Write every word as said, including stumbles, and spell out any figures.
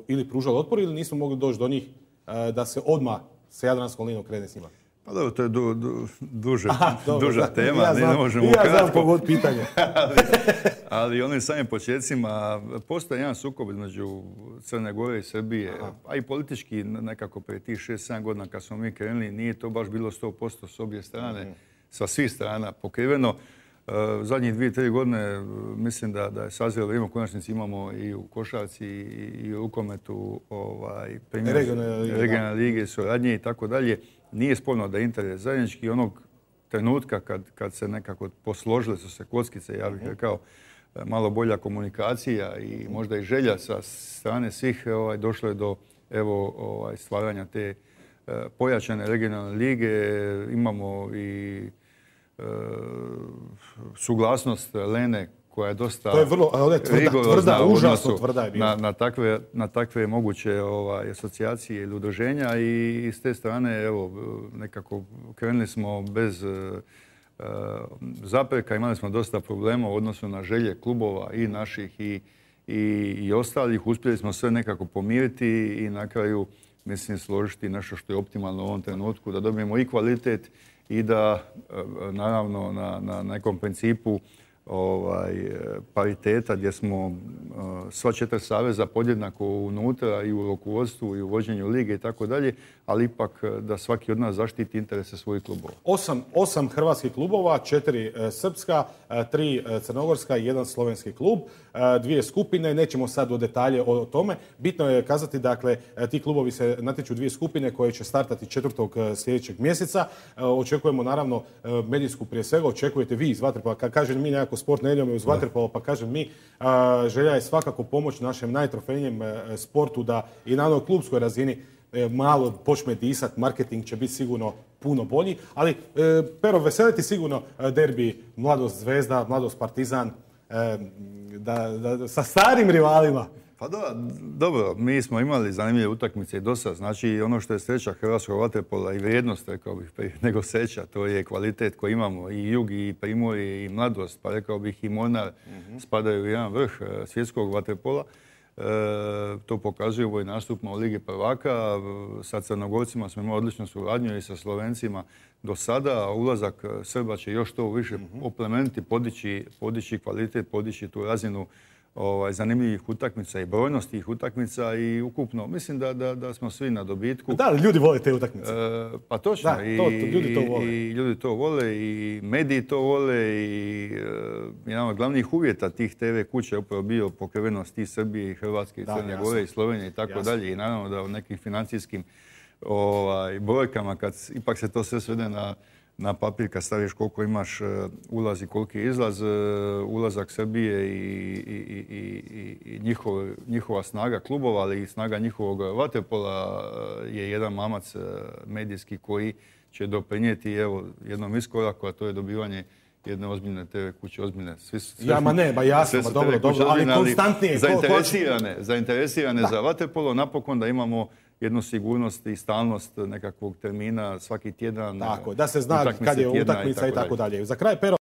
ili pružali otpor ili nismo mogli doći do njih da se odmah sa Jadranskom linijom krene s njima? Pa dobro, to je du, du, duže, Aha, dobro, duža da, tema, ja ne, znam, ne možemo ja ukratko. znam pogod pitanje. ali, ali onim samim početcima postoji jedan sukob između Crne Gore i Srbije, Aha. a i politički nekako prije tih šest sedam godina kad smo mi krenuli, nije to baš bilo sto posto s obje strane, mm. sa svih strana pokriveno. Zadnjih dvije, tri godine mislim da, da je sazrelo vrijeme, u konačnici imamo i u košarci i u rukometu ovaj, regionalne lige, suradnje i tako dalje. Nije sporno da je interes zajednički onog trenutka kad, kad se nekako posložile su se kockice, ja bih rekao, malo bolja komunikacija i možda i želja sa strane svih, ovaj, došlo je do evo, ovaj, stvaranja te uh, pojačane regionalne lige. Imamo i uh, suglasnost Lene koja je dosta to je vrlo, ali je tvrda, tvrda, užasno tvrda je bila. Na, na, takve, na takve moguće ovaj, asocijacije ili udruženja i s te strane evo, nekako krenuli smo bez uh, zapreka, imali smo dosta problema u odnosu na želje klubova i naših i, i, i ostalih. Uspjeli smo sve nekako pomiriti i na kraju mislim složiti nešto što je optimalno u ovom trenutku, da dobijemo i kvalitet i da naravno na, na nekom principu ovaj, pariteta gdje smo uh, sva četiri saveza podjednako unutra i u rukovodstvu i u vođenju lige i tako dalje, ali ipak da svaki od nas zaštiti interese svojih klubova. Osam, osam hrvatskih klubova, četiri e, srpska, e, tri e, crnogorska i jedan slovenski klub, e, dvije skupine, nećemo sad u detalje o, o tome. Bitno je kazati, dakle, e, ti klubovi se natječu dvije skupine koje će startati četvrtog e, sljedećeg mjeseca. E, očekujemo naravno e, medijsku prije svega, očekujete vi iz Vaterpola, kad kažem mi nekako sport ne idemo iz Vaterpola, pa kažem mi, a, želja je svakako pomoć našem najtrofejnijem e, sportu da i na onoj klubskoj razini malo počne disat, marketing će biti sigurno puno bolji, ali e, Pero, veseliti sigurno derbi Mladost Zvezda, Mladost Partizan, e, da, da, sa starim rivalima. Pa do, dobro, mi smo imali zanimljive utakmice i dosad. Znači ono što je sreća hrvatskog vaterpola i vrijednost, rekao bih, nego sreća, to je kvalitet koji imamo. I Jug, i Primorje, i Mladost, pa rekao bih i Mornar mm-hmm. spadaju u jedan vrh svjetskog vaterpola. E, to pokazuje ovaj nastup u Ligi prvaka. Sa Crnogorcima smo imali odličnu suradnju i sa Slovencima do sada. Ulazak Srba će još to više mm-hmm. oplemeniti, podići, podići kvalitet, podići tu razinu ovaj, zanimljivih utakmica i brojnost tih utakmica i ukupno. Mislim da, da, da smo svi na dobitku. Da, ali ljudi vole te utakmice. E, pa točno. Da, to, to, ljudi to vole. I, I ljudi to vole i mediji to vole i e, jedan od glavnih uvjeta tih te ve kuća je upravo bio pokrivenost i Srbije i Hrvatske i Crne Gore i Slovenije i tako jasno. Dalje. I naravno da u nekim financijskim ovaj, brojkama kad ipak se to sve svede na na papir kad staviš koliko imaš ulaz i koliki je izlaz, ulazak Srbije i, i, i, i njihov, njihova snaga klubova, ali i snaga njihovog vaterpola je jedan mamac medijski koji će doprinijeti evo, jednom iskoraku, a to je dobivanje jedne ozbiljne te ve kuće, ozbiljne. Svi, sve, ja, ma ne, ba jasno, ma dobro, dobro, ali konstantnije. Zainteresirane, zainteresirane za vaterpolo, napokon da imamo jednu sigurnost i stalnost nekakvog termina svaki tjedan. Tako, da se zna kad je utakmica i tako dalje. Za kraj, Pero,